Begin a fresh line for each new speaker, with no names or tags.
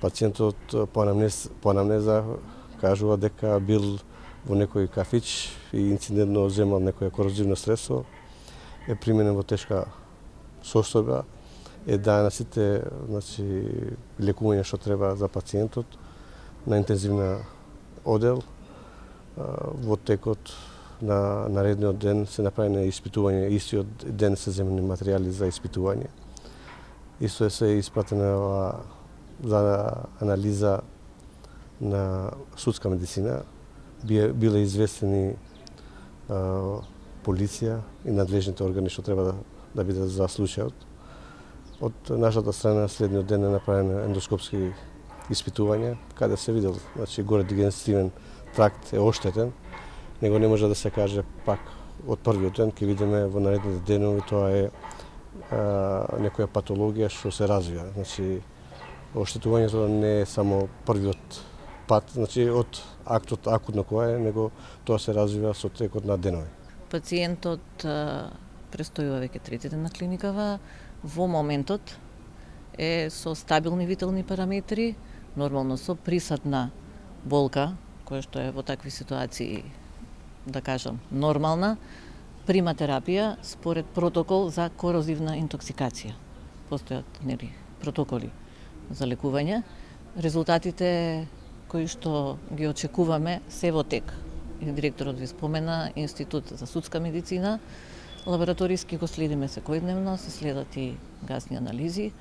Пациентот по анамнеза кажува дека бил во некој кафич и инцидентно земал некоја корозивно средство, е применен во тешка состојба, е даена сите лекување што треба за пациентот на интензивна одел. Во текот на наредниот ден се направени испитување, истиот ден се земени материјали за испитување. Исто се испратено за анализа на судска медицина. Биле известени полиција и надлежните органи што треба да бидат за случајот. Од нашата страна следниот ден е направено ендоскопски испитување, каде се видел, горе дигестивен тракт е оштетен, него не може да се каже пак од првиот ден, ќе видиме во наредните денови тоа е некоја патологија што се развива. Оштетувањето не е само првиот пат, од актот акутно која е, него тоа се развива со текот на денови.
Пациентот престојува веќе трети ден на клиникава, во моментот е со стабилни витални параметри, нормално со присадна болка, која што е во такви ситуации, да кажам, нормална, прима терапија според протокол за корозивна интоксикација. Постојат протоколи за лекување. Резултатите кои што ги очекуваме се во тек. Директорот ви спомена Институт за судска медицина, лабораториски го следиме секојдневно, се следат и гасни анализи.